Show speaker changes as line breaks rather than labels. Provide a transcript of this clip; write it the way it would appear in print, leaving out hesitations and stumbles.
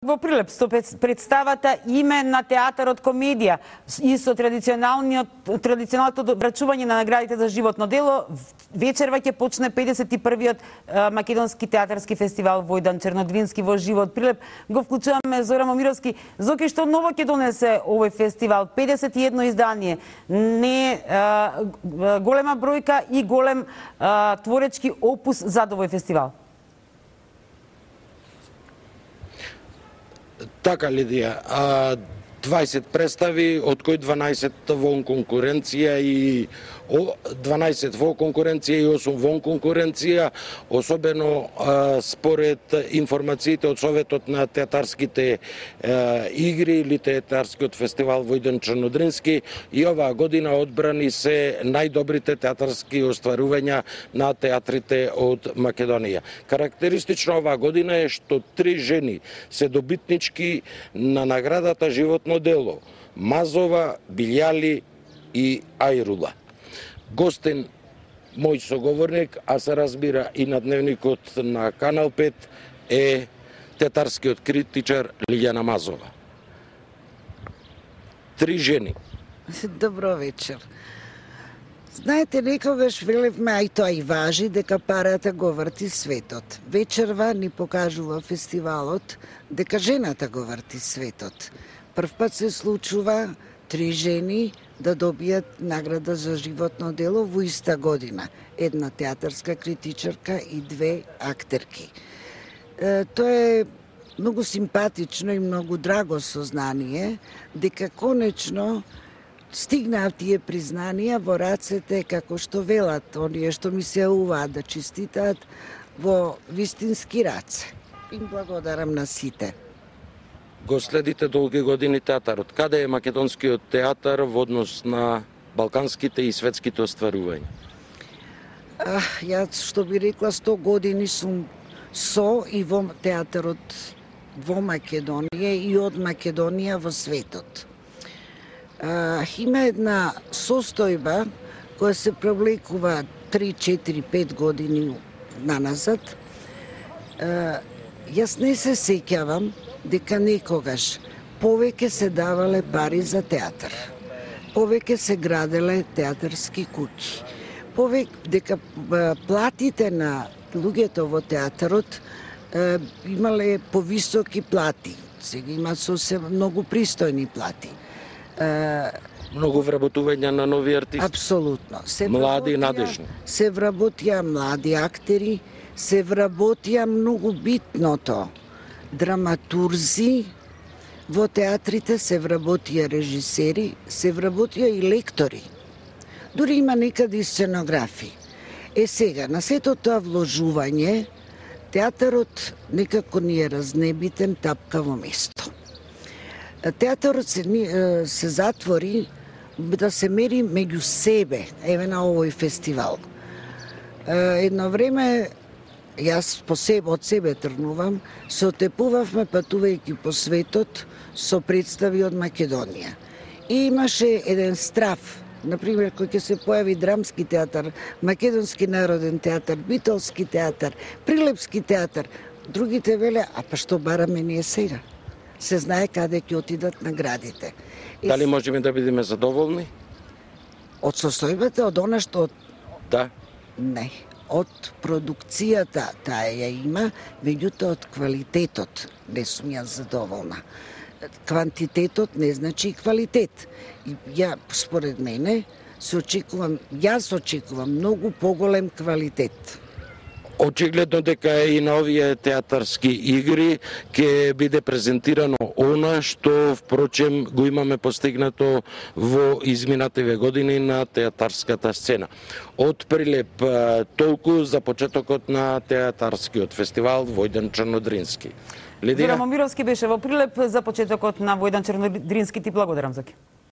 Во Прилеп со представата Име на театарот комедија и со традиционалното врачување на наградите за животно дело, вечерва ќе почне 51-иот македонски театарски фестивал Војдан Чернодрински во живот Прилеп. Го вклучуваме Зора Момировски. Зоки, што ново ќе донесе овој фестивал? 51 издание, не голема бројка и голем творечки опус зад овој фестивал.
Така, Лидија, 20 представи, од кои 12 вон конкуренција и 12 во конкуренција и 8 вон конкуренција, особено според информациите од Советот на театарските игри или театарскиот фестивал Војдан Чернодрински, и оваа година одбрани се најдобрите театарски остварувања на театрите од Македонија. Карактеристично оваа година е што 3 жени се добитнички на наградата Животно дело: Мазова, Билјали и Ајрула. Гостен мој соговорник, а се разбира и на дневникот на Канал 5, е театарскиот критичар Лиљана Мазова. 3 жени.
Добро вечер. Знаете, некогаш велевме, а и тоа и важи, дека парата го врти светот. Вечерва ни покажува фестивалот дека жената го врти светот. Прв пат се случува 3 жени да добијат награда за животно дело во иста година. Една театарска критичарка и 2 актерки. Тоа е многу симпатично и многу драго сознание дека конечно стигнаа тие признанија во рацете, како што велат, оние што ми се уваат да честитаат, во вистински раце. Им благодарам на сите.
Го следите долги години театарот. Каде е македонскиот театар во однос на балканските и светските остварувања?
Јас што би рекла 100 години сум со и во театарот во Македонија и од Македонија во светот. Има една состојба која се провлекува 3, 4, 5 години наназад. Јас не се сеќавам дека некогаш повеќе се давале пари за театар, повеќе се граделе театарски куќи, дека платите на луѓето во театарот имале повисоки плати. Сега има сосем многу пристојни плати.
Многу вработување на нови артисти.
Апсолутно.
Млади и надежни.
Се вработија млади актери, се вработија многу битното драматурзи, во театрите се вработија режисери, се вработија и лектори. Дури има некаде и сценографи. Сега, на сето тоа вложување, театарот некако ни е разнебитен, тапкаво место. Театарот се затвори да се мери меѓу себе, еве на овој фестивал. Едно време, јас од себе тргнувам, се отепувавме патувајќи по светот со представи од Македонија. И имаше еден страф, например, кој ќе се појави драмски театар, македонски народен театар, битолски театар, прилепски театар. Другите веле, па што бараме ние сега? Се знае каде ќе отидат наградите.
Дали можеме да бидеме задоволни?
Од состојбата, од она што...
Да.
Не. Од продукцијата таа ја има, меѓутоа од квалитетот не сум ја задоволна. Квантитетот не значи квалитет. Според мене, јас очекувам многу поголем квалитет.
Очигледно дека и на овие театарски игри ќе биде презентирано она што впрочем го имаме постигнато во изминативе години на театарската сцена. Од Прилеп толку за почетокот на театарскиот фестивал Војдан Чернодрински.
Зора Момировски беше во Прилеп за почетокот на Војдан Чернодрински. Ти благодарам, Заки.